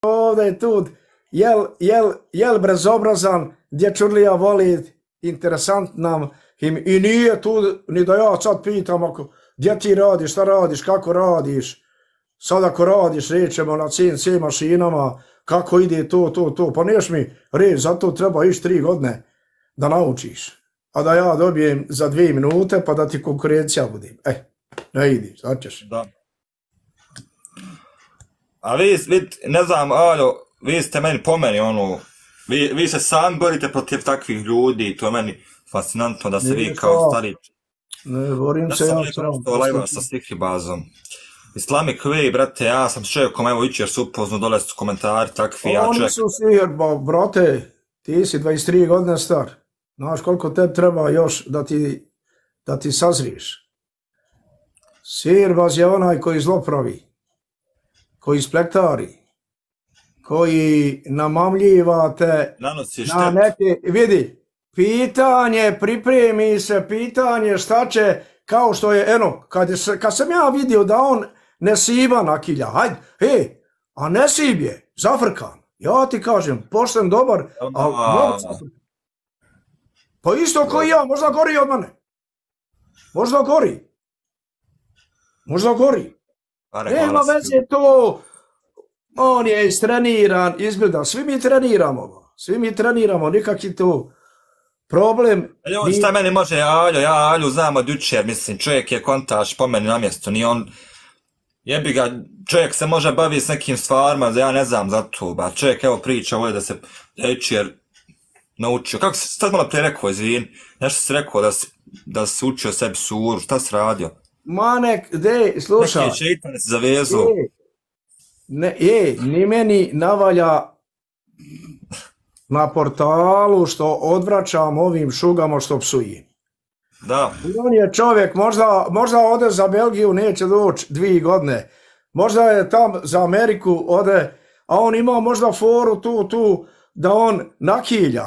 ovdje tu, jel bezobrazan, dječurlija voli, interesant nam, i nije tu, ni da ja sad pitam, gdje ti radiš, šta radiš, kako radiš, sad ako radiš, rećemo na CNC mašinama, kako ide to, pa neš mi reći, zato treba ići 3 godine da naučiš, a da ja dobijem za 2 minute, pa da ti konkurencija bude. Ne idiš, sad ćeš. Da. A vi, ne znam, Aljo, vi ste meni po meni, vi se sami borite protiv takvih ljudi, to je meni fascinantno da se vi kao stari... Ne, borim se ja. Da sam nekako lajva sa Stihribazom. Islamic Way, brate, ja sam s čovjekom, evo jučer se upoznu, dole su komentari takvi, ja čovjek... Oni su sihr, brate, ti si 23 godine star. Znaš koliko tebi treba još da ti sazriješ. Sirbaz je onaj koji zlo pravi, koji splektari, koji namamljiva te na neke... Vidi, pitanje, pripremi se, pitanje šta će, kao što je, eno, kad sam ja vidio da on nesiba nakilja, hajde, a nesib je, zafrkan, ja ti kažem, pošten dobar, a pa isto koji ja, možda gori od mene, možda gori, nema veze to, on je istreniran, izbildan, svi mi treniramo, nikakvi to problem... Šta meni može, ja Alju znam od jučer, mislim, čovjek je kontaž po meni na mjestu, nije on, jebi ga, čovjek se može baviti s nekim stvarima, ja ne znam za to, ba čovjek evo priča ovdje da se jučer naučio, kako si sad malo prije rekao, izvin, nešto si rekao da si učio sebi suru, šta si radio? Manek, slušaj. Neki šeitan si zavezu. Ni meni navalja na portalu što odvraćam ovim šugama što psujem. Da. On je čovjek, možda ode za Belgiju, neće doći 2 godine. Možda je tam za Ameriku ode, a on ima možda foru tu, da on nakilja.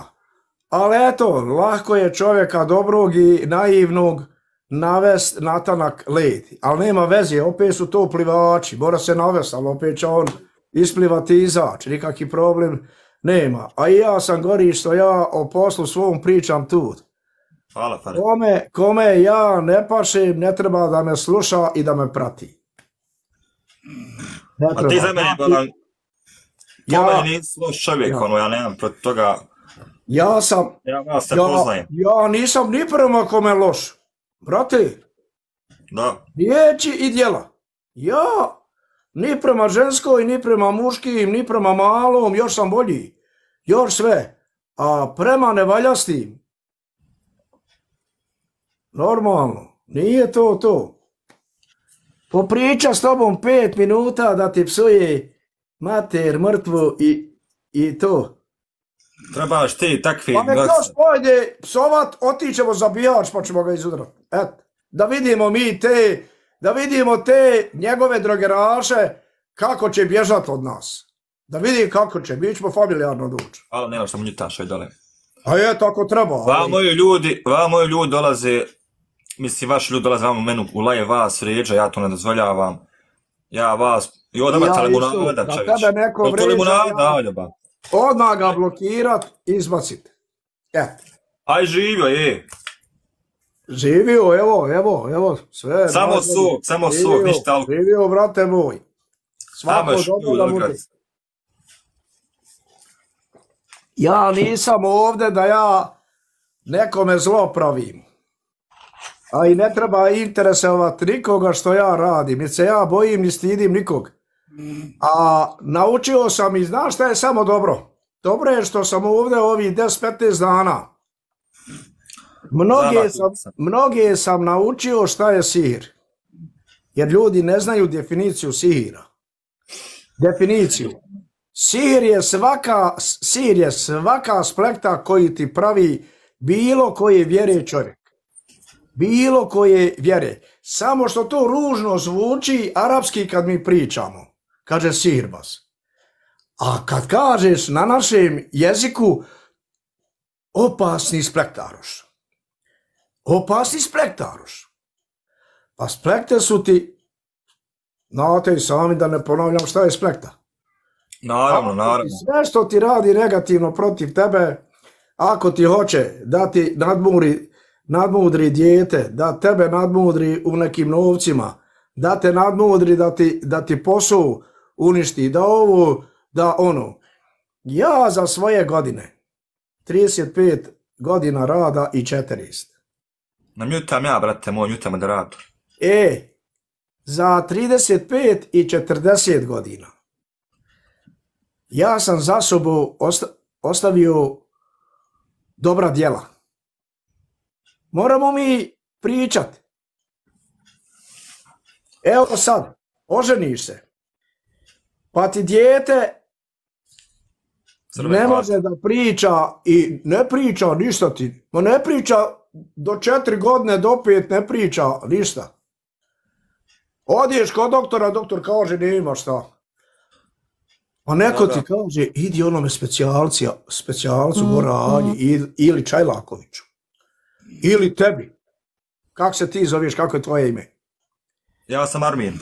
Ali eto, lako je čovjeka dobrog i naivnog navest na tanak led. Ali nema veze, opet su to plivači, mora se navest, ali opet će on isplivati i izaći, nikakvi problem nema. A i ja sam gori što ja o poslu svom pričam tu. Hvala, Fare. Kome ja ne pašem, ne treba da me sluša i da me prati. A ti za mene, Balan, po meni nisi loš čovjek, ja nemam protiv toga. Ja vas te poznajem. Ja nisam ni prema kome loš. Brate, riječi i djela. Ja ni prema ženskoj, ni prema muškim, ni prema malom, još sam bolji. Još sve. A prema nevaljastim, normalno, nije to. Popriča s tobom 5 minuta da ti psuje mater, mrtvu i to. Trebaš ti takvi... Pa nek još pojde psovat, otićemo zabijač pa ćemo ga izudrati. Eto, da vidimo te njegove drogeraše kako će bježat od nas. Da vidi kako će, mi ćemo familijarno doći. Ali nema što mu njutaša i dole. A je, tako treba. Va moji ljudi dolaze, mislim vaši ljudi dolaze vam u menu, u laje vas vrijeđa, ja to ne dozvoljavam. Ja vas, i ovdje imate limunada, čovječ. To limunada, Aljoba. Odmah ga blokirat, izbacit. Aj živio, je. Živio, evo, sve. Samo sok, ništa alkohol. Živio, brate moj. Svako dobro da bude. Ja nisam ovdje da ja nekome zlo pravim. A i ne treba interesovati nikoga što ja radim. Jer se ja bojim ni stidim nikog. A naučio sam i znaš šta je samo dobro? Dobro je što sam ovdje ovih 10-15 dana. Mnoge sam naučio šta je sihir. Jer ljudi ne znaju definiciju sihira. Definiciju. Sihir je svaka splekta koji ti pravi bilo koje vjere čovjek. Bilo koje vjere. Samo što to ružno zvuči arapski kad mi pričamo. Kaže sihirbaz. A kad kažeš na našem jeziku opasni splektaroš. Opasni splektaroš. Pa splekte su ti, znate i sami da ne ponavljam šta je splekta. Naravno, naravno. Sve što ti radi negativno protiv tebe, ako ti hoće da ti nadmudri dijete, da tebe nadmudri u nekim novcima, da te nadmudri da ti posao uništi, da ovo, da ono. Ja za svoje godine, 35 godina rada i 40. Namjutam ja, brate, moj njuta moderator. Za 35 i 40 godina ja sam za sobom ostavio dobra djela. Moramo mi pričati. Evo sad, oženiš se, pa ti dijete ne može da priča i ne priča ništa ti. Ma ne priča do 4 godine, do 5 ne priča ništa. Odiješ kod doktora, doktor kaže nema šta. A neko ti kaže idi onome specijalcu Goranji ili Čajlakoviću. Ili tebi. Kako se ti zoveš, kako je tvoje ime? Ja sam Armin.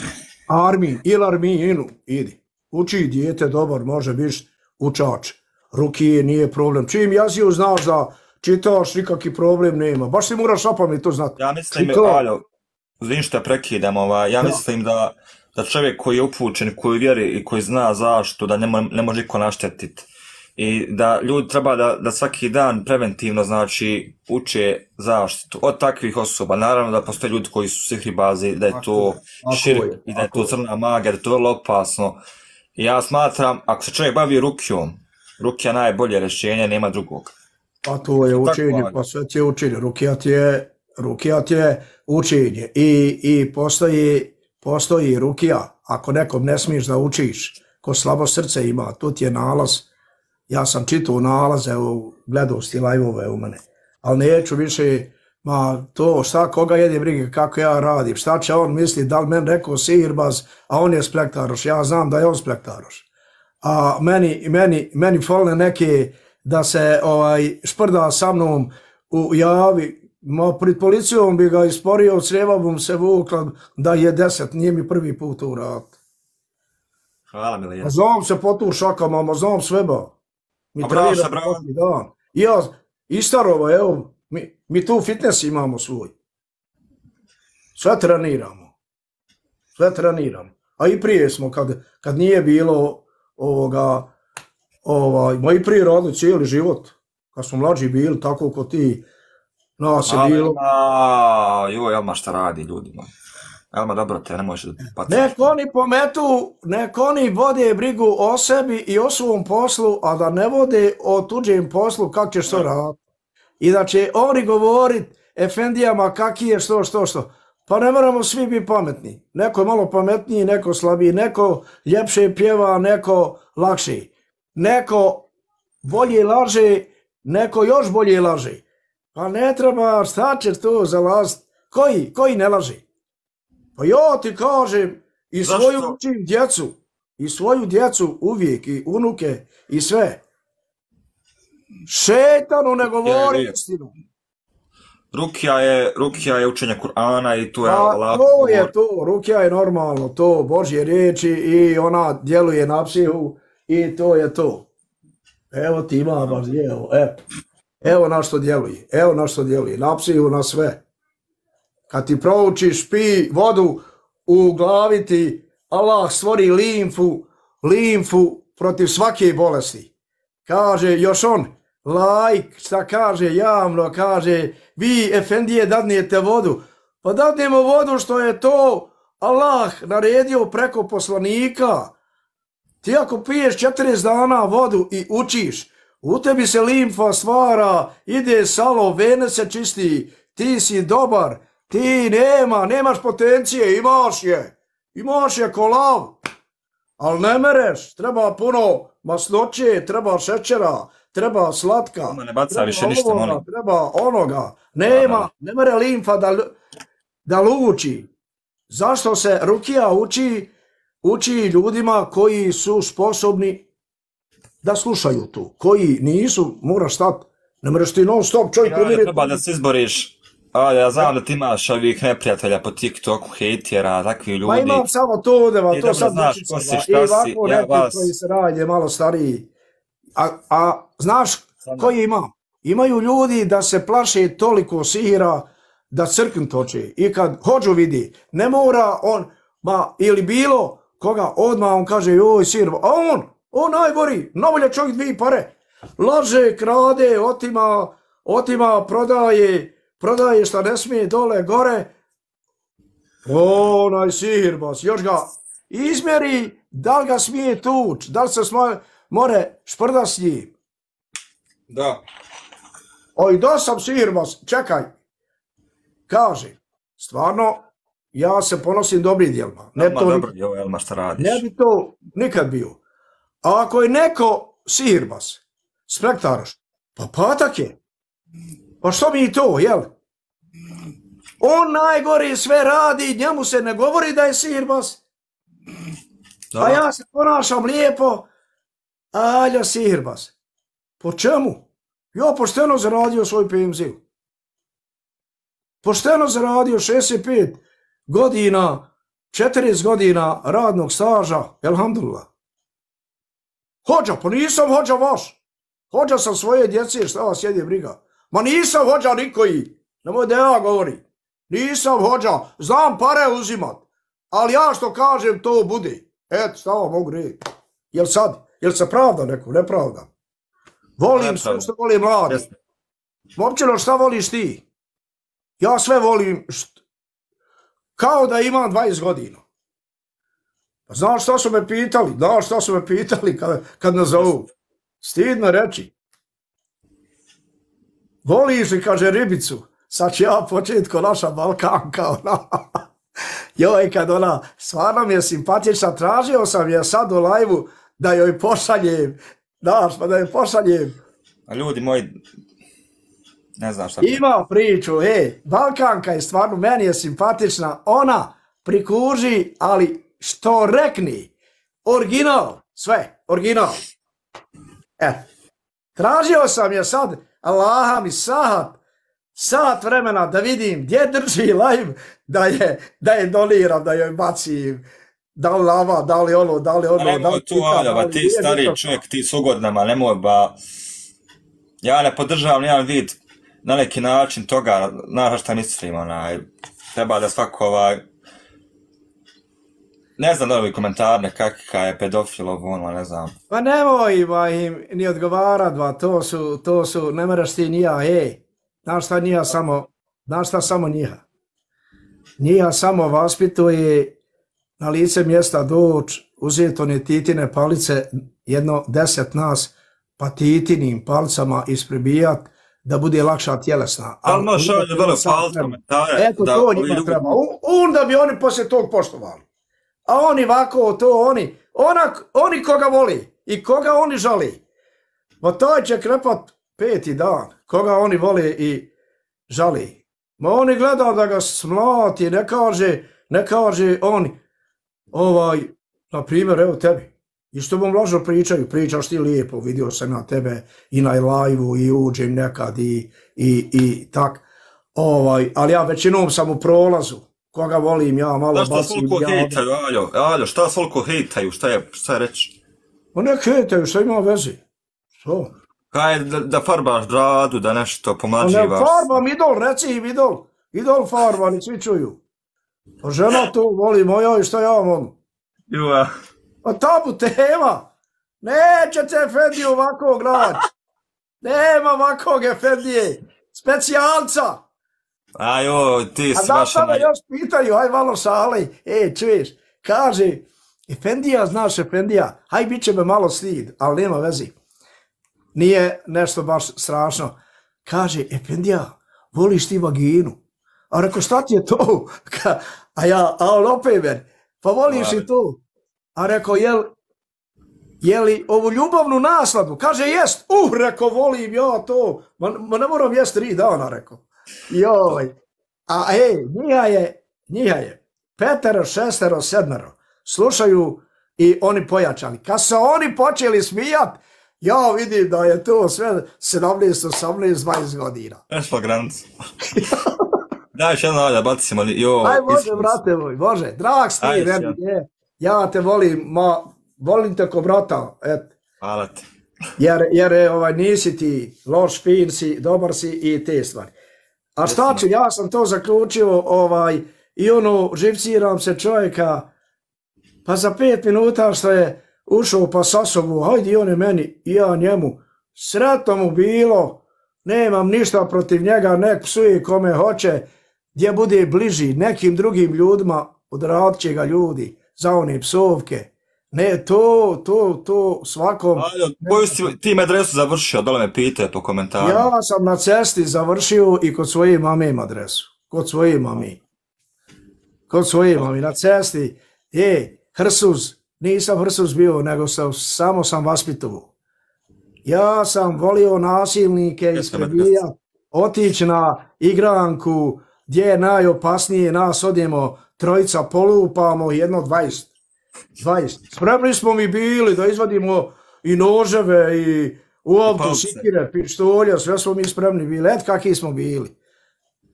Armin ili Arminu, idi. Uči dijete dobar, može biti učač. Rukije nije problem. Čim jaziju znaš da čitaš, nikakvi problem nema. Baš si moraš na pamet to znati. Ja mislim, Aljo, uzvim što prekidam, ja mislim da čovjek koji je upućen, koji vjeri i koji zna zašto, da ne može niko naštetiti. I da ljudi treba da svaki dan preventivno, znači, uče zaštitu od takvih osoba. Naravno da postoje ljudi koji su sihribazi, da je to širk i da je to crna magija, da je to vrlo opasno. I ja smatram, ako se čovjek bavi rukijom, rukija najbolje rješenje, nema drugog. Pa to je učenje, pa sve ti je učenje. Rukija ti je učenje i postoji rukija. Ako nekom ne smiješ da učiš, ko slabo srce ima, tu ti je nalaz. Ja sam čitao nalaze, gledao sti live-ove u mene, ali neću više, to šta koga jede brige, kako ja radim, šta će on misli, da li meni rekao sihirbaz, a on je splektaroš, ja znam da je on splektaroš. A meni falne neke da se šprda sa mnom u javi, pred policijom bi ga isporio, od sreva bom se vukla da je 10, nije mi prvi put u rad. Hvala Milija. Znam se po tu šakama, znam sve ba. Mi treniramo svaki dan. Ja, Istarova, evo, mi tu fitness imamo svoj. Sve treniramo. A i prije smo, kad nije bilo ma i prije radili cijeli život. Kad smo mlađi bili, tako ko ti, nas je bilo. Joj, Elma šta radi ljudima. Elma, dobro te, ne možeš da paciš. Nek oni vode brigu o sebi i o svom poslu, a da ne vode o tuđem poslu kako ćeš to raditi. I da će oni govorit efendijama kaki je što. Pa ne moramo svi biti pametni. Neko je malo pametniji, neko slabiji, neko ljepše pjeva, neko lakše. Neko bolje laže, neko još bolje laže. Pa ne treba, šta će to zalaziti? Koji ne laže? Pa ja ti kažem, i svoju učim djecu, i svoju djecu uvijek, i unuke, i sve. Šetanu ne govori istinu. Rukija je učenje Kur'ana i tu je Allah. To je to, rukija je normalno, to Božje riječi i ona djeluje na psihu i to je to. Evo ti ima baš evo na što djeluje, na psihu, na sve. Kad ti proučiš, pi vodu, u glavi ti Allah stvori limfu protiv svake bolesti. Kaže još on, šta kaže javno, kaže, vi efendije dadnijete vodu. Pa dadnemo vodu što je to Allah naredio preko poslanika. Ti ako piješ 40 dana vodu i učiš, u tebi se limfa stvara, ide salo, vene se čisti, ti si dobar, ti nemaš potencije, imaš je ko lav, ali ne mereš, treba puno masnoće, treba šećera, treba slatka, treba onoga, ne mere limfa da luči. Zašto se rukija uči ljudima koji su sposobni da slušaju to, koji nisu, moraš stati, ne mereš ti non stop čovjek treba da se izboriš A ja znam da ti imaš ovih neprijatelja po TikToku, hejtjera, takvi ljudi. Ma imam samo to, I to dobro sad znaš ko si, šta si, ja vas... koji se radi malo stariji. A znaš koji ima? Imaju ljudi da se plaše toliko sihira da crkn toče. I kad hođu vidi, ne mora on, ili bilo koga, odmah on kaže, joj sihir, a on najgori, najbolje čovjek dvije pare. Laže, krade, otima, prodaje šta ne smije dole, gore. Onaj sihirbas, još ga izmjeri, da li ga smije tuć, da li se more šprda s njim. Da. Oj, da sam sihirbas, čekaj. Kaže, stvarno, ja se ponosim dobrim djelima. Dobro, Elma, šta radiš? Ne bi to nikad bio. A ako je neko sihirbas, spektaraš, pa patak je. Pa što mi to, jel? On najgori sve radi, njemu se ne govori da je sihirbas. A ja se ponašam lijepo, alja sihirbas. Po čemu? Ja pošteno zaradio svoj penziju. Pošteno zaradio 65 godina, 40 godina radnog staža, elhamdulillah. Hođa, pa nisam hođa vaš. Hođa sam svoje djece, šta vas jedi briga. Ma nisam hođa nikoji, nemoj da ja govorim. Nisam hođa, znam pare uzimat, ali ja što kažem to bude. Eto, šta vam mogu reći. Jel se pravda neko, nepravda? Volim sve što volim mladi. Momčino, šta voliš ti? Ja sve volim kao da imam 20 godina. Znaš šta su me pitali, kad nas zovu? Stidno reći. Voliš li, kaže, ribicu? Sad ću ja početi ko naša Balkanka, joj, kad ona, stvarno mi je simpatična, tražio sam je sad u lajvu da joj pošaljem, znaš, pa da joj pošaljem. A ljudi moji, ne znam šta. Ima priču, Balkanka je stvarno, meni je simpatična, ona prikuži, ali što rekni, original, sve, original. Tražio sam je sad, Allaha mi sat vremena da vidim gdje drži live, da je doniram, da joj bacim, da li lava, da li ono, da li ono. Nemoj tu, Aljava, ti stari čovjek, ti s ugodnama, nemoj ba... Ja ne podržavam nijedan vid na neki način toga, znaš šta mislim, treba da svako ne znam da li komentar nekakva je pedofilov, ne znam. Pa nemoj im ni odgovarat, to su, ne moraš ti nija, znaš šta samo njiha. Njiha samo vaspituje na lice mjesta doć, uzeti one titine palice, jedno 10 nas, pa titinim palicama ispribijat, da bude lakša tjelesna. Ali možeš ovdje dole paliti komentare. Eto, to njima treba. Onda bi oni poslije tog poštovali. A oni ovako, to oni koga voli i koga oni žali. Ma taj će krepat 5. dan, koga oni vole i žali. Ma oni gleda da ga smlati, ne kaže oni, na primjer, evo tebi. I što vam lažno pričaš ti lijepo, vidio sam na tebe i na live-u i uđem nekad i tak. Ali ja većinom sam u prolazu. Koga volim, ja malo basim. Šta svoliko hejtaju, Aljo, šta svoliko hejtaju, šta je reći? Ma ne hejtaju, šta ima veze? Što? Kaj da farbaš bradu, da nešto pomlađivaš? Ne farbam, reci im idol farba, ni svi čuju. A žena to voli, moja i šta ja volim? Juva. A tabu tema, nećete Efendi ovakvog naći. Nema ovakvog Efendije, specijalca. A joj, ti si baš... A da još pitaju, aj malo šali, čuješ, kaže, Efendija, znaš Efendija, aj bit će me malo stid, ali nema vezi. Nije nešto baš strašno. Kaže, Efendija, voliš ti vaginu? A reko, šta ti je to? A on opet meni, pa voliš i to? A reko, je li ovu ljubavnu nasladu? Kaže, jest. Reko, volim ja to. Ma ne moram jest 3 dana, reko. Joj. A njiha je 5, 6, 7. Slušaju i oni pojačali. Kad se oni počeli smijat, ja vidim da je to sve 17, 18, 20 godina. Ešla granicu. Daj još jedno, da bacimo li, Aj, može, brate moj, može. Drag si ti, meni, ja te volim, volim te ko brata, et. Hvala ti. Jer nisi ti loš, fin si, dobar si i te stvari. A šta ću, ja sam to zaključio, i živciram se čovjeka, pa za 5 minuta što je ušao pa sa sobu, hajde i on je meni, i ja njemu, sretno mu bilo, nemam ništa protiv njega, nek psuje kome hoće, gdje bude bliži nekim drugim ljudima, odradit će ga ljudi za one psovke. Ne, to svakom... Koju si ti adresu završio? Dole me pitaju po komentaru. Ja sam na cesti završio i kod svoje mame im adresu. Kod svoje mami. Na cesti. Hrsus. Nisam Hrsus bio, nego samo sam vaspitovo. Ja sam volio nasilnike isprebijat, otići na igranku gdje je najopasnije, nas odjemo trojica, polupamo, jedno 20. Spremni smo mi bili da izvadimo i noževe i uoptu, sikire, pištolja, sve smo mi spremni bili. Et kakvi smo bili.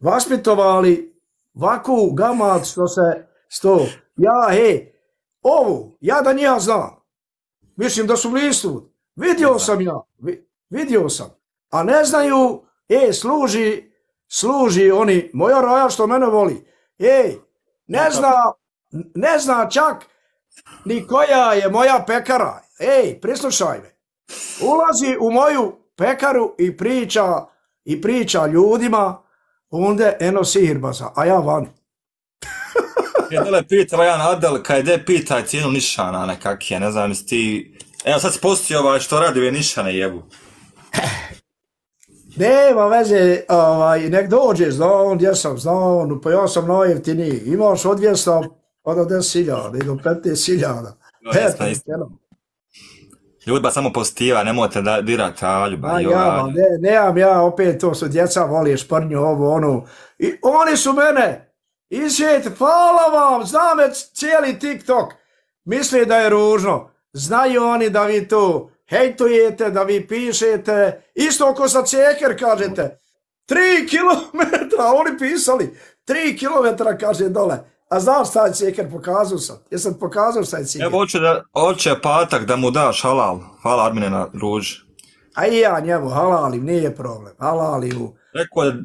Vaspitovali vaku gamad što se sto. Ja da njega znam. Mislim da su blistu. Vidio sam. A ne znaju, služi oni, moja raja što mene voli. Ne zna čak ni koja je moja pekara. Prislušaj me. Ulazi u moju pekaru i priča ljudima, onda eno sihirbaza, a ja van. Dole pitao jedan Adel, kaj pitaj cijenu nišana nekak je, ne znam jesi ti... Evo sad si postio što radi ove nišane jebu. Nema veze, nek dođe, znam gdje sam, pa ja sam najjeftiniji. Imaš od 200 pa do 10.000 i do 15.000. Ljudba samo pozitiva, nemojte da dirate Aljuba. Nemam ja, opet to su djeca, voli šprnju, ovo, ono. I oni su mene isjeti, hvala vam, znam cijeli TikTok. Misli da je ružno. Znaju oni da vi to hejtujete, da vi pišete. Isto ako sa ceker kažete. 3 kilometra, oni pisali. 3 kilometra kaže dole. A znaš šta je ceker, pokazao sam. Jesam pokazao šta je ceker. Evo hoće patak da mu daš halal. Hvala Armine na ruži. A i ja njemu halalim, nije problem. Halalim.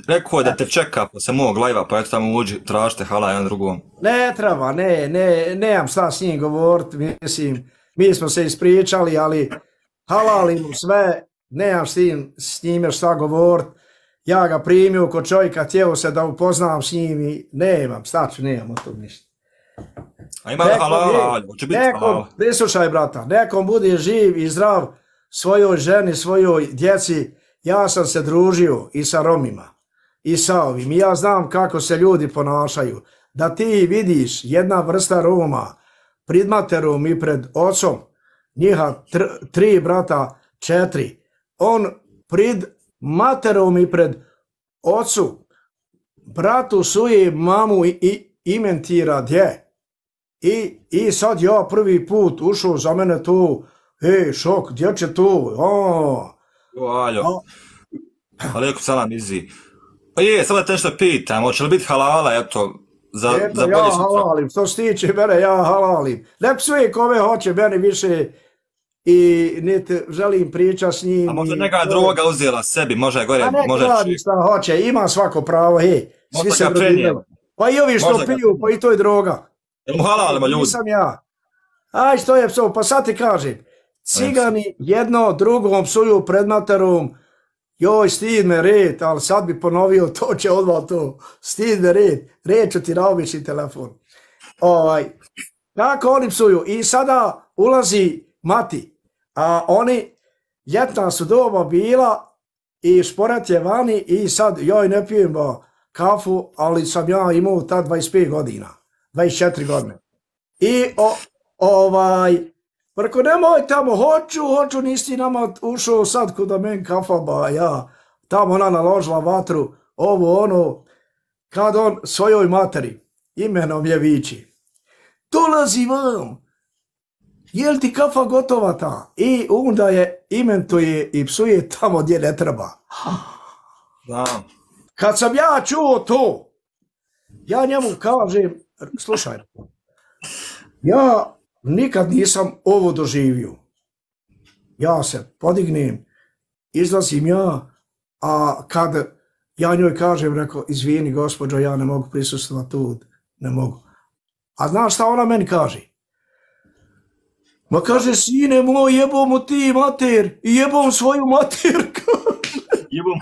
Rekao je da te čeka posle mog lajva, pa eto tamo uđi, tražite halal jedan drugom. Ne treba, nemam šta s njim govorit, mislim, mi smo se ispričali, ali halalim sve, nemam s njime šta govorit. Ja ga primio kod čovjeka, htio se da upoznam s njim i nemam od tog ništa. A ima halal, hoće biti halal. Prislušaj brata, nekom bude živ i zdrav svojoj ženi, svojoj djeci. Ja sam se družio i sa Romima i sa ovim. I ja znam kako se ljudi ponašaju. Da ti vidiš jedna vrsta Roma pred materom i pred ocom, njiha 3 brata, 4. On pred materom i pred ocu, bratu suje mamu i imentira gdje. I sad ja prvi put ušao za mene tu, šok, gdje će tu? Aljo, alaikum salam izi. Pa sad da te nešto pitam, hoće li biti halala, eto, za bolje sutra? Ja halalim, što se tiče mene, ja halalim. Ne psuje kome hoće, meni više i niti želim pričati s njim. A možda neka droga uzela sebi, može gore, može čovjek. A ne šta hoće, ima svako pravo, svi se drugine. Pa i ovi što piju, pa i to je droga. Jel mu halalimo ljudi? Nisam ja. Aj, što je psov, pa sad ti kažem. Cigani jedno drugom psuju pred materom, joj, stid me red, ali sad bi ponovio, to će odmah to, stid me red, reću ti na obični telefon. Kako oni psuju? I sada ulazi mati, a oni, ljetna su doba bila i šporet je vani i sad, joj, ne pijem kafu, ali sam ja imao tad 25 godina, 24 godine. I preko nemoj tamo, hoću, nisi nama ušao sad kuda men kafa, ja, tamo ona naložila vatru, ovo, ono, kad on svojoj materi, imenom je viči, dolazi vam, jel ti kafa gotova ta? I onda je imentuje i psuje tamo gdje ne treba. Kad sam ja čuo to, Ja njemu kažem, slušaj, ja nikad nisam ovo doživio. Ja se podignem, izlazim ja, a kad ja njoj kažem, rekao, izvini gospođo, ja ne mogu prisustvovati tu, ne mogu. A znaš šta ona meni kaže? Ma kaže, sine moj, jebom ti mater i jebom svoju materku. Jebom.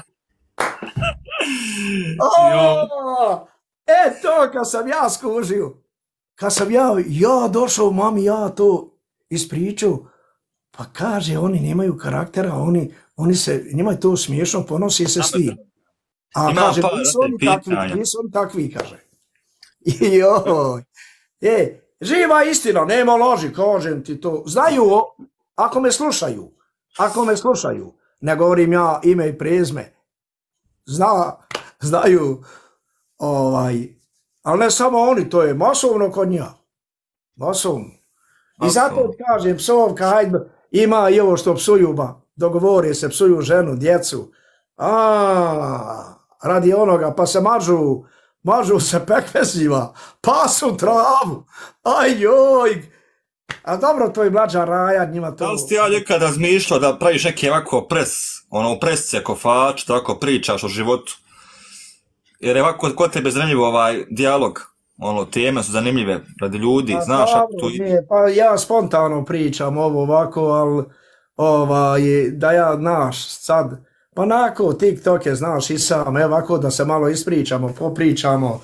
To kad sam ja skužio, kad sam ja došao mami, ja to ispričao, pa kaže, oni nemaju karaktera, oni se, njima je to smiješno, ponosi se s tim. A kaže, nisu oni takvi, kaže. Joj. Živa istina, nema loži, kažem ti to. Znaju, ako me slušaju, ne govorim ja ime i prezme, znaju, ali ne samo oni, to je masovno kod nja. Masovno. I zato kažem, psovka, hajde, ima i ovo što psuju, dogovore se, psuju ženu, djecu, radi onoga, pa se mažu se pekmezima, pasu travu, ajoj, a dobro, to je mlađa Raja, njima to... Da li si ti ja nekad razmišljao da praviš neke ovako presice, kofač, tako pričaš o životu? Jer je ovako kod tebe zanimljiv ovaj dijalog, teme su zanimljive radi ljudi, znaš ako tu... Pa ja spontano pričam ovo ovako, ali da ja, znaš, sad, pa nako TikToke, znaš, i sam, ovako da se malo ispričamo, popričamo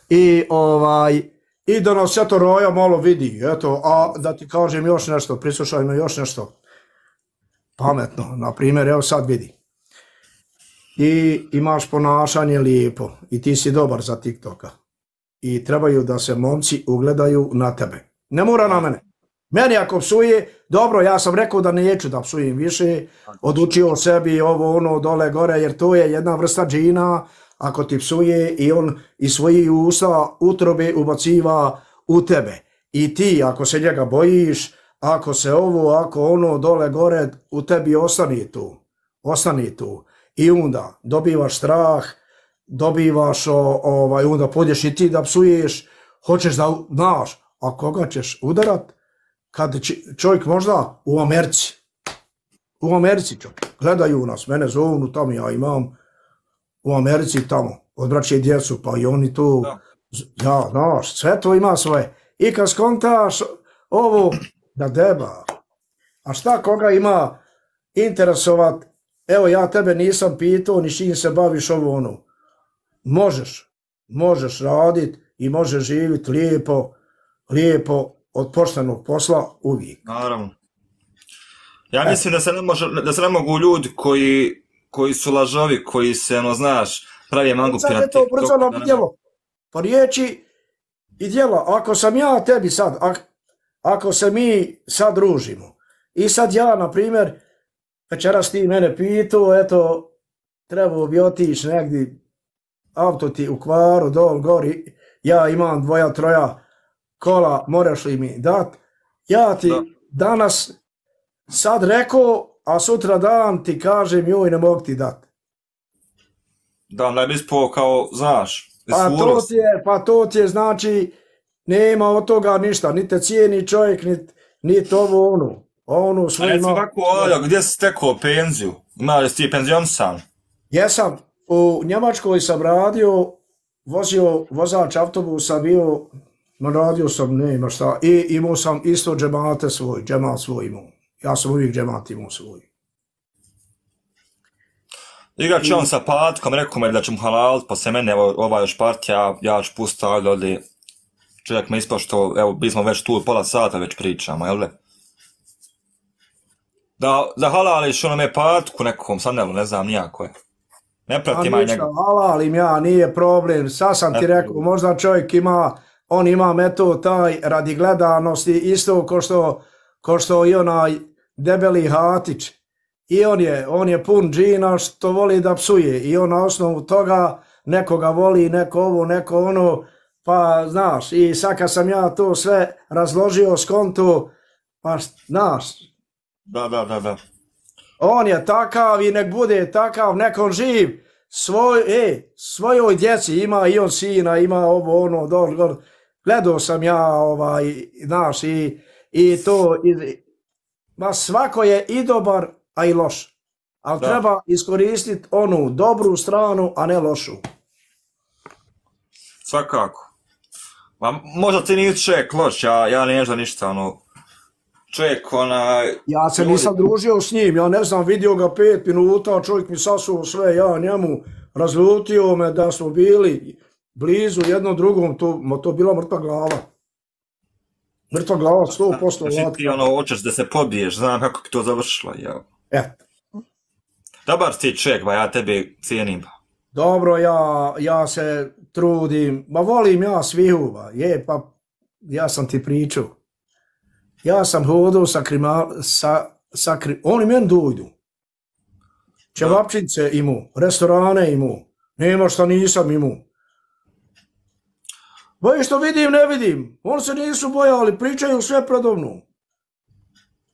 i da nas eto Roja malo vidi, eto, a da ti kažem još nešto, prislušaj me još nešto pametno, na primjer, evo sad vidi. I imaš ponašanje lijepo i ti si dobar za TikToka i trebaju da se momci ugledaju na tebe. Ne mora na mene. Meni ako psuje, dobro, ja sam rekao da neću da psujem više, odučio sebi ovo dole gore, jer to je jedna vrsta džina, ako ti psuje i on iz svojih usta utrobe ubaciva u tebe. I ti, ako se njega bojiš, ako se ako dole gore, u tebi ostani tu. I onda dobivaš strah, dobivaš, onda podješ i ti da psuješ, hoćeš da, znaš, a koga ćeš udarat? Kad čovjek možda u Americi čovjek, gledaju nas, mene zovu tamo, ja imam u Americi tamo, odbraće djecu, pa i oni tu, ja, znaš, sve to ima svoje. I kad skontaš ovo, da deba, a šta koga ima interesovat, evo ja tebe nisam pitao, ni čim se baviš možeš radit i možeš živjeti lijepo, od poštenog posla uvijek. Naravno. Ja mislim da se ne mogu ljudi koji su lažovi, koji se, znaš, pravi mangupi na TikToku. Ubrzano djelo. Pa riječi i djela. Ako sam ja tebi sad, ako se mi sad družimo i sad ja, na primjer, večeras ti mene pitao, eto, trebao bi otići negdje, auto ti u kvaru, dol, gori, ja imam 2-3 kola, moraš li mi dat? Ja ti danas sad rekao, a sutra dan ti kažem, joj, ne mogu ti dat. Da, ne bi ispao kao, znaš, pa to ti je, znači, nema od toga ništa, ni te cijeni čovjek, ni to ono svoj ima. A recimo kako, gdje si stekao penziju? Imali si ti penzionisan? Jesam, u Njemačkoj sam radio, vozač autobusa bio, radio sam, nema šta, i imao sam isto džemat svoj imao. Ja sam uvijek džemat imao svoj. Igrat će on sa Patkom, rekao me da će mu halalit, posle mene, ova još partija, ja ću pustiti ovdje, čovjek me ispao što, evo, mi smo već tu pola sata već pričamo, jel' Da halališ onome Patku nekom, sad ne znam nijako je. Ne pratim aj njega. Halalim ja, nije problem, sad sam ti rekao, možda čovjek on ima metod taj radi gledanosti, isto ko što i onaj debeli Hatić. I on je pun džina što voli da psuje i on na osnovu toga nekoga voli, neko ovo, neko ono, pa znaš, i sad kad sam ja to sve razložio skonto, pa znaš. Da. On je takav i nek bude takav, nek on živ svojoj djeci, ima i on sina, ima ovo, ono, dol. Gledao sam ja, znaš, i to, ma svako je i dobar, a i loš. Ali treba iskoristiti onu dobru stranu, a ne lošu. Svakako. Ma, možda ti nisi čovjek loš, ja ne znam ništa, ono, čovjek, Ja se nisam družio s njim, ja ne znam, vidio ga 5 minuta, čovjek mi sasuo sve, ja njemu razljutio me da smo bili blizu jednom drugom, to bila mrtva glava. Mrtva glava, 100%. Znači ti hoćeš da se pobiješ, znam kako bi to završilo, ja. Dobar si čovjek, ba ja tebe cijenim. Dobro, ja se trudim, ma volim ja svihu, pa ja sam ti pričao. Ja sam hodao oni meni dojdu. Čevapčice imao, restorane imao, nema šta nisam imao. Boji što vidim, ne vidim. Oni se nisu bojali, pričaju sve predovno.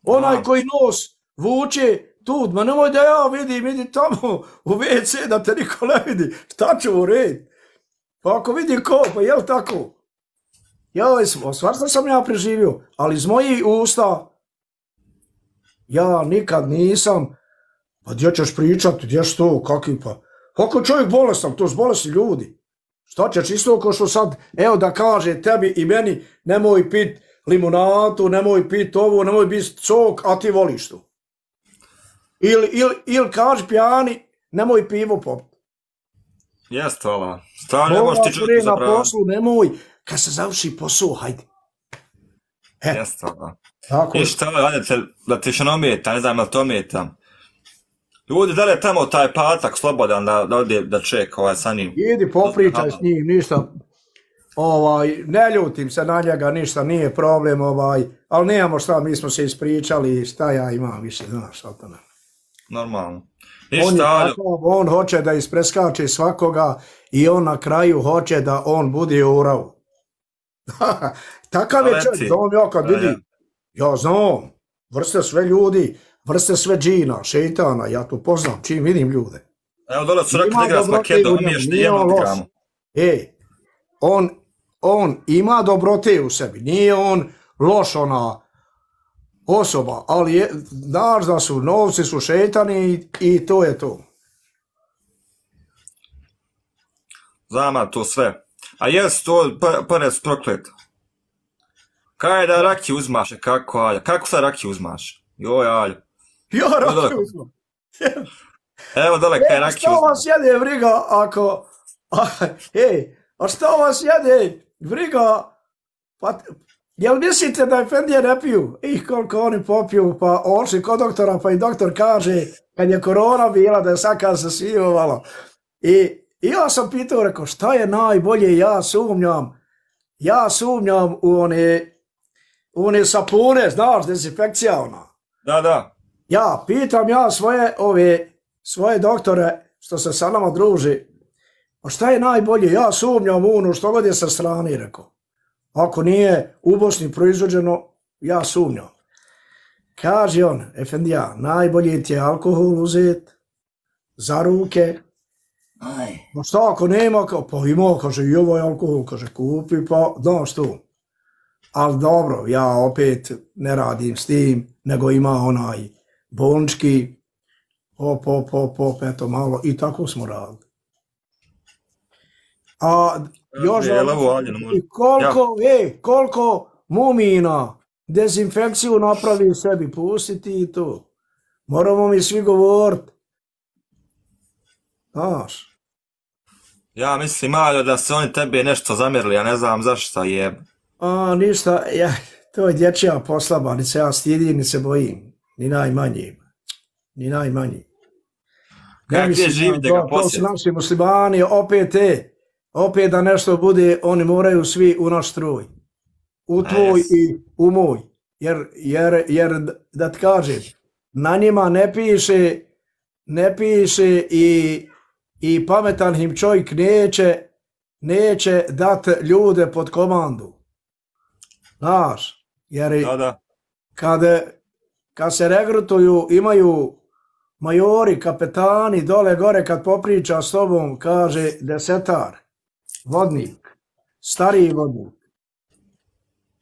Onaj koji nos vuče tu, ma nemoj da ja vidim, idi tamo u WC da te niko ne vidi. Šta ću u red? Pa ako vidi ko, pa jel tako? Stvarno sam ja preživio, ali iz mojih usta ja nikad nisam, pa gdje ćeš pričati, gdje što, kakvi pa. Kako čovjek bolestan, to su bolesni ljudi. Šta ćeš isto ko što sad, evo da kaže tebi i meni, nemoj pit limonatu, nemoj pit ovo, nemoj pit cok, a ti voliš to. Ili kaži pijani, nemoj pivo popiti. Jeste, hvala. Stvarno ne možeš ti čuti za pravo. Na poslu, nemoj, kad se završi posao, hajde. Jeste, hvala. I šta, ajde, da ti še ometa, ne znam, ali to ometam. Ljudi, da li je tamo taj patak slobodan da ode da čeka sa njim? Idi, popričaj s njim, ništa. Ne ljutim se na njega, ništa, nije problem, ali nemamo šta, mi smo se ispričali, šta ja imam više, znaš, šta to ne. Normalno. On hoće da ispreskače svakoga i on na kraju hoće da on bude u uravu. Takav je čovjek, znam ja kad vidim, ja znam, vrste sve ljudi, vrste sve džina, šeitana, ja to poznam, čim vidim ljude. Evo dole su rekli da igra s Makedom, mi još nijedno odigramo. On ima dobrote u sebi, nije on loš ona osoba, ali znaš da su novci su šeitani i to je to. Znam to sve. A jes to pare su prokleta. Kaj da rakiju uzmaš, kako sad rakiju uzmaš? Joj, Aljo. Ja rakiju uzmam. Evo dole kaj rakiju uzmaš. Što vas jede briga ako... A što vas jede briga... Jel mislite da Efendije ne piju? Koliko oni popiju, pa ošli kod doktora, pa i doktor kaže, kad je korona bila, da je sad se svijevalo. I ja sam pitao, rekao, šta je najbolje, ja sumnjam u one sapune, znaš, dezinfekcija ona. Da. Ja pitam svoje doktore, što se sa nama druži, a šta je najbolje, ja sumnjam u ono što god je sa strane, rekao. Ako nije u Bosni proizvođeno, ja sumnjam. Kaže on, Efendija, najbolje ti je alkohol uzeti za ruke. Ma šta ako nema, pa ima, kaže, i ovo je alkohol, kaže, kupi, pa znaš to. Ali dobro, ja opet ne radim s tim, nego ima onaj bolnički, eto malo, i tako smo radili. A još koliko mumina dezinfekciju napravi sebi, pustiti i to. Moramo mi svi govoriti. Znaš. Ja mislim, Aljo, da se oni tebe nešto zamjerili, ja ne znam zašto je. Ništa, to je dječja poslaba, ni se ja stidim, ni se bojim. Ni najmanji. Kako je živite ga posjeti? To su naši muslimani, opet da nešto bude, oni moraju svi u naš stroj. U tvoj i u moj. Jer da ti kažem, na njima ne piše i pametan im čovjek neće dati ljude pod komandu. Znaš, jer kad se regrutuju, imaju majori, kapetani, dole gore kad popriča s tobom, kaže desetar, vodnik, stariji vodnik,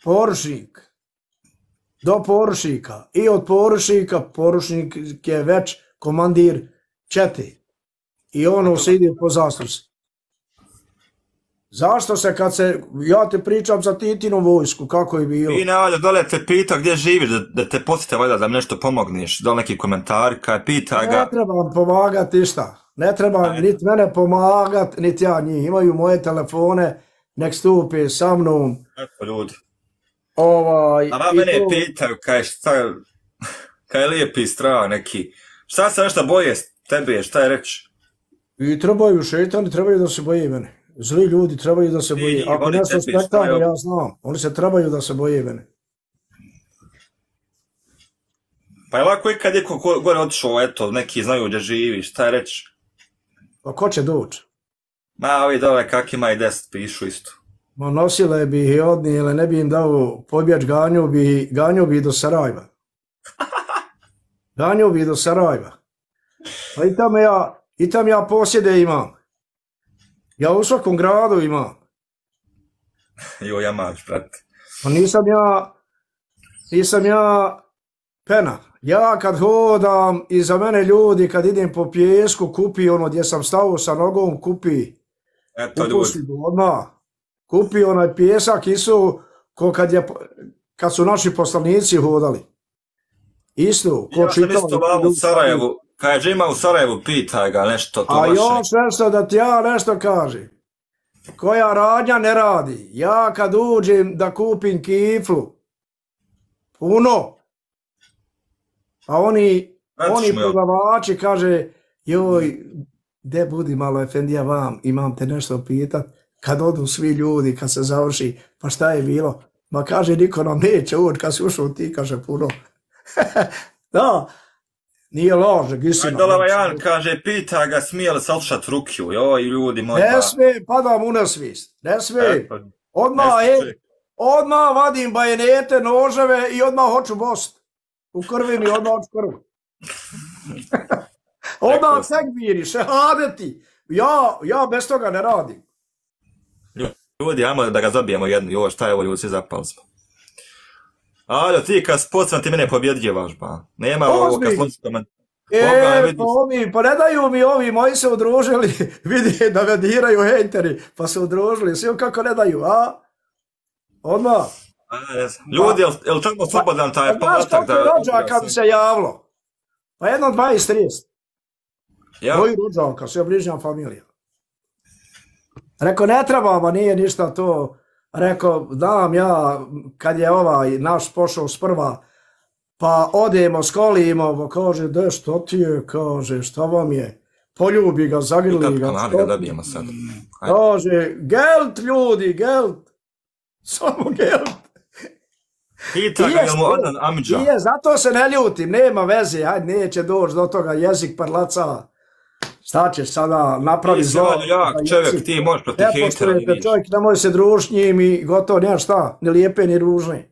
poručnik, do poručnika i od poručnika, poručnik je već komandir čete i ono se ide po zasluzi. Zašto se kad se, ja te pričam za Titinu vojsku, kako je bilo? I ne, dole te pita gdje živiš, da te posjete valjda da mi nešto pomogneš, dole neki komentari, kaj pita ga. Ne trebam pomagati ništa, ne trebam niti mene pomagati, niti ja njih, imaju moje telefone, nek stupe sa mnom. Eto ljudi. A mene pitaju, kaj je lijepi strah neki, šta se nešto boje tebe, šta je reći? I trebaju šetani, trebaju da se boje mene. Zli ljudi trebaju da se boje. Ako nešto spektakularno, ja znam. Oni se trebaju da se boje mene. Pa je lako i kad je gore otišao, eto, neki znaju gdje živiš, šta je reći? Pa ko će doći? Ma, ovi dole kakima i 10 pišu isto. Ma nosile bi ih i odnijele, ne bi im dao pobječ, ganju bi do Sarajeva. Ganju bi do Sarajeva. Pa i tam ja posjede imam. Ja u svakom gradu imam. Jo, ja maš, brate. Pa nisam ja pena. Ja kad hodam, iza mene ljudi, kad idem po pjesku, kupi ono gdje sam stao sa nogom, kupi. Eto ljudi. Odmah. Kupi onaj pjesak, isto ko kad su naši poslanici hodali. Isto. Ja sam isto vam u Sarajevu. Kaže, ima u Sarajevu, pitaj ga nešto to vaše. A još nešto da ti ja nešto kažem. Koja radnja ne radi. Ja kad uđem da kupim kiflu, puno, a oni prodavači kaže, joj, de budi malo efendija vam, imam te nešto pitat. Kad odu svi ljudi, kad se završi, pa šta je bilo? Ma kaže, niko nam neće ući, kad si ušao ti, kaže puno. Da. Nije ložeg, istina. Dolava Jan kaže, pita ga, smije li salšat rukiju, joj, ljudi moji. Ne smije, padam u nesvijest, ne smije. Odmah vadim bajenete, noževe i odmah hoću bost. U krvini, odmah hoću krvu. Odmah tekbiri, šehadeti. Ja bez toga ne radim. Ljudi, ajmo da ga zabijemo jednu, joj, šta je ovo, ljudi, svi zapali smo. Aljo, ti kad spocam ti mene pobjedljivaš, ba. Nema ovo kad slončito pa ne daju mi ovi, moji se udružili, vidi da me diraju hejteri, pa se udružili, svi kako ne daju, a? Odmah. Ljudi, je li tamo slobodan taj podatak? Znaš koliko je rođaka mi se javilo? Pa jedno 20-30. Moji rođaka, sve bližnja familija. Rekao, ne trebamo, nije ništa to. Rekao, znam ja, kad je ovaj naš pošao sprva, pa odemo, skolimo, pa kaže, de što ti je, kaže, šta vam je, poljubi ga, zagrli ga. Kako ga dobijemo sad? Kaže, gelt ljudi, gelt, samo gelt. Pita ga, jel mu odan amidža? Nije, zato se ne ljutim, nema veze, hajde, neće doći do toga, jezik parlaca. Šta ćeš sada napravi zlo? Ti si jak čovjek, ti možeš protiv hejtera. Ne poštujete čovjek, nemoj se družiti njim i gotovo, nema šta, ni lijepe ni ružne.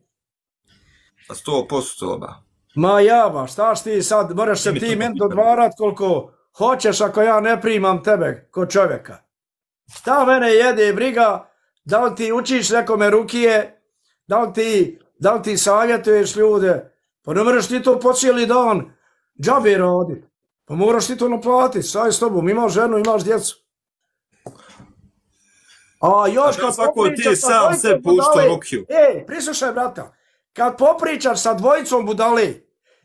100% ba. Ma jaba, šta ti sad, moraš se ti meni dodvarat koliko hoćeš ako ja ne primam tebe ko čovjeka. Šta mene jede briga, da li ti učiš nekome rukije, da li ti savjetuješ ljude, pa ne moraš ti to po cijeli dan džabe raditi. Pa moraš ti to naplatiti, saj s tobom, imaš ženu, imaš djecu. A još kad popričaš sa dvojicom budale, prislušaj brata, kad popričaš sa dvojicom budale,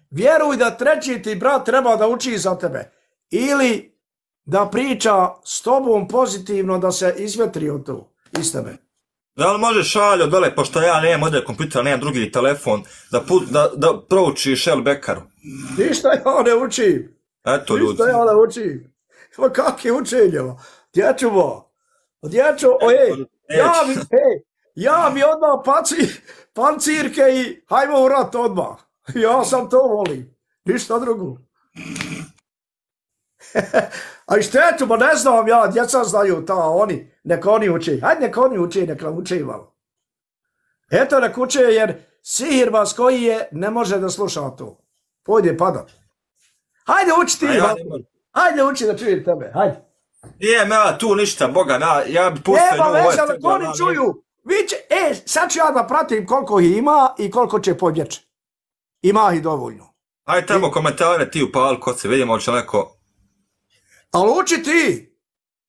vjeruj da treći ti brat treba da uči za tebe. Ili da priča s tobom pozitivno, da se izvetri od to iz tebe. Da li možeš šaljo dole, pošto ja nemam ovdje kompjuter, nemam drugi telefon, da proučiš El Bekaru? Ništa ja ne učim. Eto ljudi. Ništa ja ne učim. Ma kak je učenje? Dječuvo. Ja mi odmah pancirke i hajmo u rat odmah. Ja sam to volim. Ništa drugo. A i štetu, ma ne znam ja, djeca znaju ta, oni, neka oni uče. Hajde neka oni uče, neka uče malo. Eto nek uče jer sihirbaz koji je, ne može da sluša to. Pojde padat. Hajde uči ti, hajde uči da čujem tebe, hajde. Nijem ja tu ništa, Boga, ja bi pustio Nema veze, ali oni čuju. Sad ću ja da pratim koliko ih ima i koliko će pobjeći. Ima ih dovoljno. Hajde tamo komentare ti upali kod se, vidimo će neko... Ali uči ti.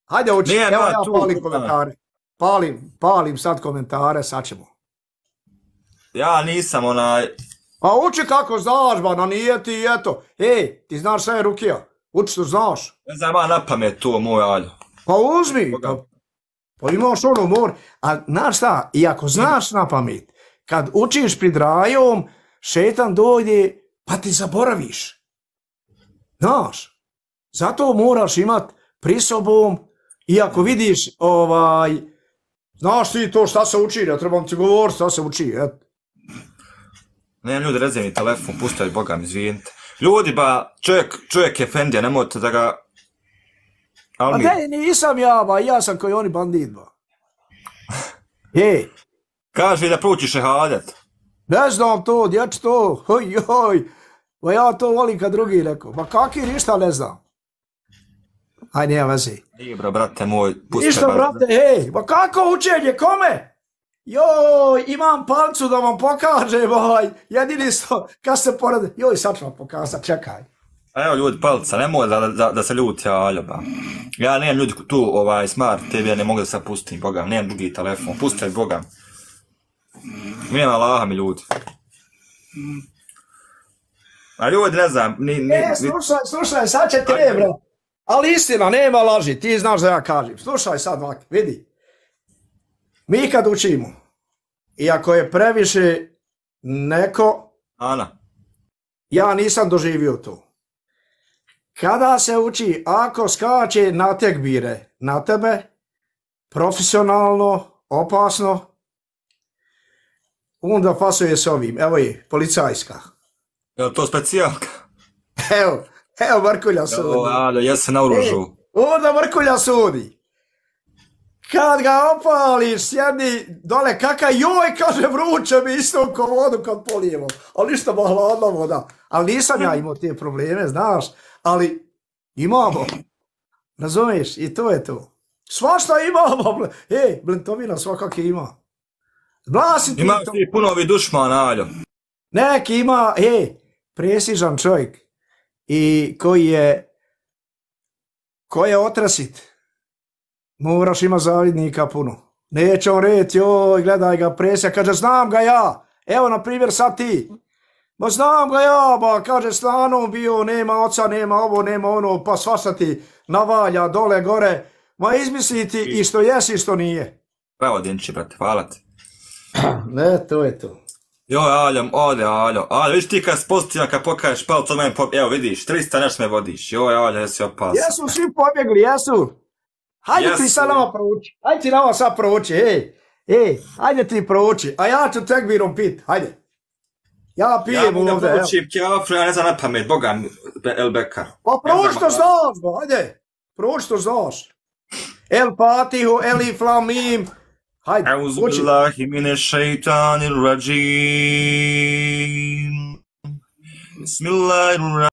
Hajde uči, evo ja palim komentare. Palim sad komentare, sad ćemo. Ja nisam onaj... Pa uči kako znaš, ba, no nije ti, eto. Ej, ti znaš sve Rukija. Uči što znaš. Ne znam, ja na pamet to, moj Aljo. Pa uzmi. Pa imaš ono mor. A znaš šta, i ako znaš na pamet, kad učiš pred rajom, šetan dojde, pa ti zaboraviš. Znaš. Zato moraš imat pri sobom, i ako vidiš, znaš ti to šta se uči, ja trebam ti govoriti šta se uči, eto. Ne, ljudi, rezaj mi telefon, puštaj, Boga mi, izvinite. Ljudi, ba, čovjek je fendija, nemojte da ga... A ne, nisam ja, ba, ja sam koji oni bandit, ba. Kaži da proučiš šehadet. Ne znam to, dječ to, joj, ba ja to volim kad drugi rekao, ba kaki ništa ne znam. Aj, nije vezi. Nije, bro, brate moj, puštaj. Ništa, brate, ba kako učenje, kome? Joj, imam palcu da vam pokažem, jedini sto, kad se porade, joj, sad ću vam pokazat, čekaj. A evo ljudi, palca, nemoj da se ljuti, Aljo, ba. Ja nemam ljudi tu, smart TV, ja ne mogu da se pustim, Boga, nemam drugi telefon, pustaj, Boga. Nema Allaha mi ljudi. A ljudi, ne znam, slušaj, sad će te, bre. Ali istina, nema laži, ti znaš da ja kažem. Slušaj sad, Maki, vidi. Mi kad učimo, i ako je previše neko, ja nisam doživio to. Kada se uči, ako skače na tekbire na tebe, profesionalno, opasno, onda pasuje s ovim, evo je, policajska. Je to specijalka? Evo Mrkulja sudi. Evo, ja se naoružu. Onda Mrkulja sudi. Kad ga opališ, sjedi dole, joj, kaže, vruće mi isto ko vodu kad polijemo. Ali ništa ma hladna voda. Ali nisam ja imao te probleme, znaš. Ali imamo. Razumiješ? I to je to. Svašta imamo. Blentovina svakak ima. Ima ti puno ovi dušmana, Aljo. Neki ima, presižan čovjek. I koji je otrasit. Moraš ima zavidnika puno. Neće on reći, joj, gledaj ga, presija, kaže, znam ga ja. Evo, na primjer, sad ti. Ma znam ga ja, ba, kaže, stanom bio, nema oca, nema ovo, nema ono, pa svašta ti navalja, dole, gore. Ma izmisli ti i što jesi i što nije. Bravo, Dinči, brate, hvala ti. Ne, to je to. Joj, Aljo, vidiš ti kad spozitivan, kad pokaješ palcu, evo vidiš, 300 nešto me vodiš. Joj, Aljo, jesi opasan. Jesu svi pobjegli, jesu. Hajde ti sad nama prouči, hajde ti nama sad prouči, hajde ti prouči, a ja ću tekbirom pit, hajde. Ja pijem ovdje, evo. Ja proučim kjafru, ja ne znam na pamet, Boga El Bekar. Pa prouči to znaš, hajde, prouči to znaš. El Fatihu, Elif Lam Mim, hajde, uči. Auzubillahi mine šeitanir rajim. Bismillahirrahmanirrahim.